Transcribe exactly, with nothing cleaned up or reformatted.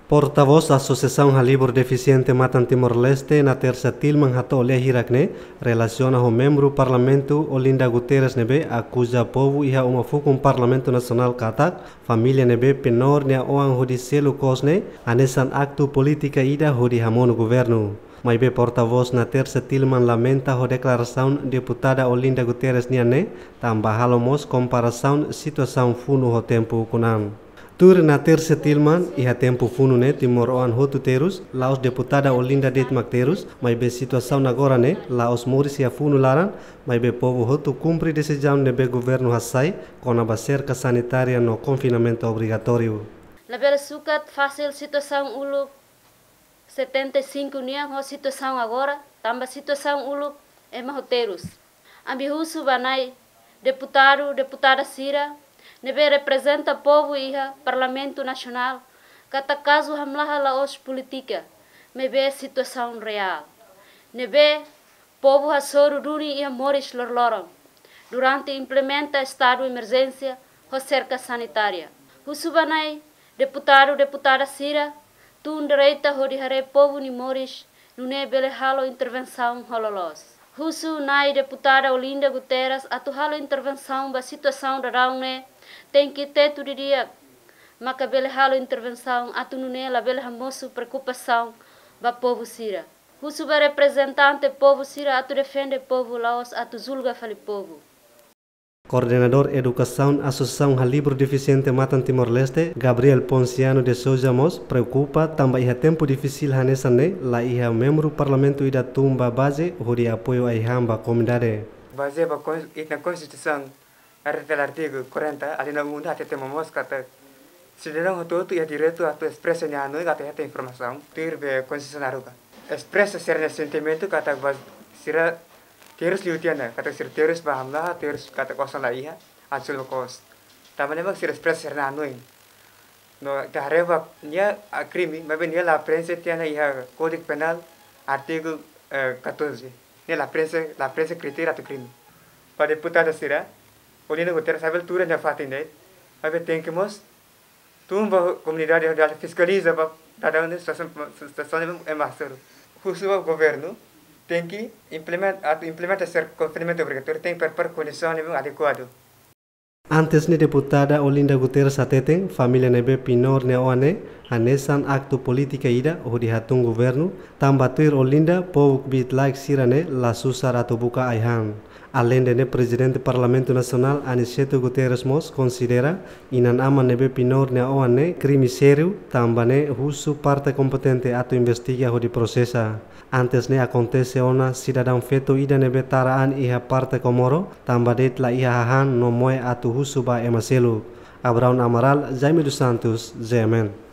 Portavós Asosiasaun Halibur Defisiente Matan Timor-Leste, na tersa tilman hato'o lia hirak ne'e, relasiona ho membru Parlamentu Olinda Guterres ne'ebé akuza povu iha uma fukun Parlamentu Nasionál katak família ne'ebé penór nia oan hodi selu kos ne'e hanesan aktu polítika ida hodi hamonu governu. Maibé portavós na tersa tilman lamenta ho deklarasaun deputada Olinda Guterres nian ne'e, tanba halo mós komparasaun situasaun funu ho tempu ukun an. Tuir na tersa tilman, iha tempu funu ne'e timoroan hotu terus, la'ós deputada Olinda de'it mak terus, maibé situasaun agora ne'e la'ós moris iha funu laran, maibé povu hotu kumpre desizaun ne'ebé governu hasai kona-ba serka sanitária no konfinamentu obrigatóriu. Labele sukat fasil situasaun uluk setenta e cinco nian ho situasaun agora, tanba situasaun uluk ema ho terus. Ami husu ba Na'i deputadu, deputada sira ne'ebé reprezenta povu iha Parlamentu Nasionál, katak kazu hamlaha la'ós polítika, maibé situasaun reál ne'ebé povu hasoru duni iha moris loroloron durante implementa estadu emerjénsia ho serka sanitária. Husu ba Na'i deputadu, deputada sira tun direta hodi haree povu nia moris, nune'e bele halo intervensaun ho loloos. Husu Na'i deputada Olinda Guterres atu halo intervensaun ba situasaun daudaun ne'e, tenke tetu didi'ak, maka bele halo intervensaun atu nune'e labele hamosu preokupasaun ba povu sira. Husu ba reprezentante povu sira atu defende povu, la'ós atu julga fali povu. Koordenadór Edukasaun Asosiasaun Halibur Defisiente Matan Timor-Leste, Gabriel Ponciano de Sousa mós preokupa tanba iha tempu difisil hanesan ne'e, la iha membru Parlamentu ida tun ba baze hodi apoiu ai-han ba komunidade. Bazeia ba kon-, ita-nia Konstituisaun, artigu, artigu quarenta, alínea um, hatete momoos katak sidadaun hotu-hotu iha direitu atu espresa nia hanoin, atu hetan informasaun, tuir be Konstituisaun haruka. Espresa sira-nia sentimentu katak ba sira terus liu tiha ona, katak sira terus ba hamlaha, terus katak osan la iha, atu selu kos. Tanba ne'e mak sira espresa sira-nia hanoin. No ita haree ba nia, ah, krime, maibé nia la prenxe tiha ona iha Kódigu Penál, artigu, eh, catorze. Nia la prenxe, la prenxe kritéria atu krime. Ba deputada sira, Olinda Guterres labele tuur iha nia fatin de'it, maibé tenke mós tun ba komunidade hodi fiskaliza ba daudaun ne'e situasaun, situasaun ne'ebé ema hasoru. Husu ba governu, tenke implementa, atu implementa serka konfinamentu obrigatóriu, tenke prepara kondisaun ne'ebé adekuadu. Antes ne'e deputada Olinda Guterres hateten, família ne'ebé penór nia oan ne'e hanesan aktu polítika ida hodi hatún governu, tanba tuir Olinda, povu kbiit-laek sira-ne'e la susar atu buka ai-han. Aleinde ne'e, Prezidente Parlamentu Nasionál Aniceto Guterres mós konsidera inan-aman ne'ebé penór nia oan ne'e krime sériu, tanba ne'e husu parte kompetente atu investiga hodi prosesa. Antes ne'e akontese ona sidadaun feto ida ne'ebé tara an iha parte Comoro, tanba de'it la iha hahán no moe atu husu ba ema seluk. Abraão Amaral, Jaime dos Santos, G M N.